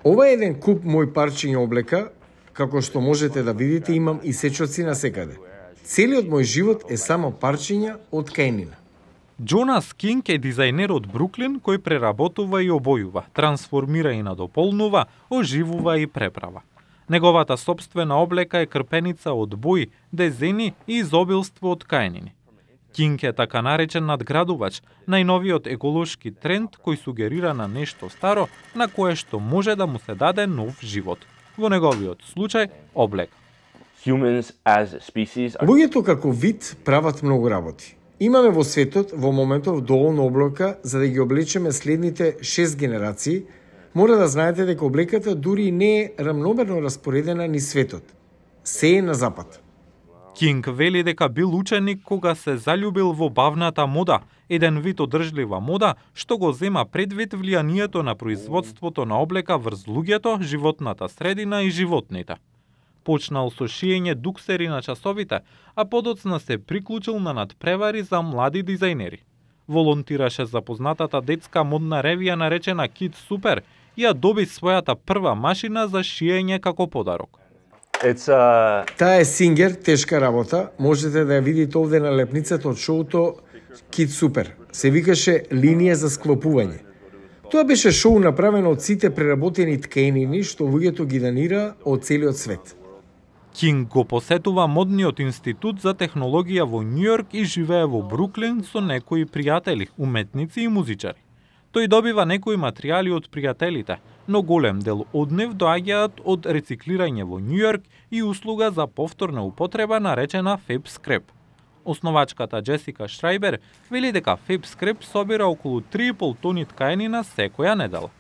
Ова е еден куп мој парчиња облека, како што можете да видите имам и сечоци на секаде. Целиот мој живот е само парчиња од тканина. Джонас Кинг е дизајнер од Бруклин кој преработува и обојува, трансформира и надополнува, оживува и преправа. Неговата собствена облека е крпеница од бои, дезени и изобилство од тканини. Кинг е така наречен надградувач, најновиот еколошки тренд кој сугерира на нешто старо на кое што може да му се даде нов живот. Во неговиот случај, облека. Луѓето како вид прават многу работи. Имаме во светот во моментов доволно облека за да ги облечеме следните 6 генерации. Мора да знаете дека облеката дури не е рамномерно распоредена ни светот. Се е на запад. Кинг вели дека бил ученик кога се заљубил во бавната мода, еден вид одржлива мода што го зема предвид влијанието на производството на облека врз луѓето, животната средина и животните. Почнал со шиење дуксери на часовите, а подоцна се приклучил на надпревари за млади дизајнери. Волонтираше за познатата детска модна ревија наречена Kid Super и ја доби својата прва машина за шиење како подарок. Таа е Singer, тешка работа. Можете да ја видите овде на лепницата од шоуто Kid Super. Се викаше линија за склопување. Тоа беше шоу направено од сите преработени тканини што луѓето ги данира од целиот свет. Кинг го посетува модниот институт за технологија во Њујорк и живее во Бруклин со некои пријатели, уметници и музичари. Тој добива некои материјали од пријателите, но голем дел од нив доаѓаат од рециклирање во Њујорк и услуга за повторна употреба наречена Fab Scrap. Основачката Джесика Шрајбер вели дека Fab Scrap собира околу 3,5 тони тканина секоја недела.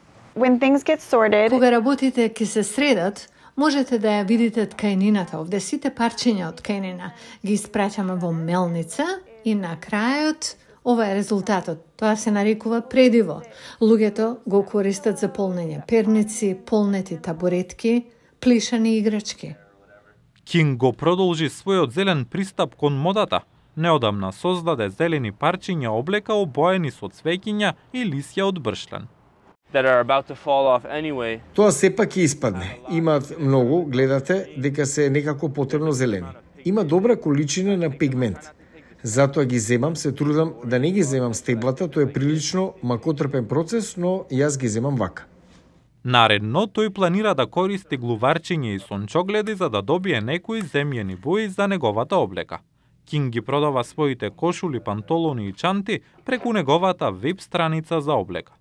Кога работите ќе се средат, можете да ја видите тканината, овде сите парчиња од тканина ги испраќаме во мелница и на крајот ова е резултатот. Тоа се нарекува предиво. Луѓето го користат за полнење перници, полнети табуретки, плишани играчки. Кинг го продолжи својот зелен пристап кон модата. Неодамна создаде зелени парчиња облека обоени со цвеќиња и лисја од бршлен. Тоа сепак ќе испадне. Имаат многу, гледате дека се некако потребно зелени. Има добра количина на пигмент. Затоа ги земам, се трудам да не ги земам стеблата, тоа е прилично макотрпен процес, но јас ги земам вака. Наредно, тој планира да користи глуварчиња и сончогледи за да добие некои земјени бои за неговата облека. Кинг ги продава своите кошули, пантолони и чанти преку неговата веб страница за облека.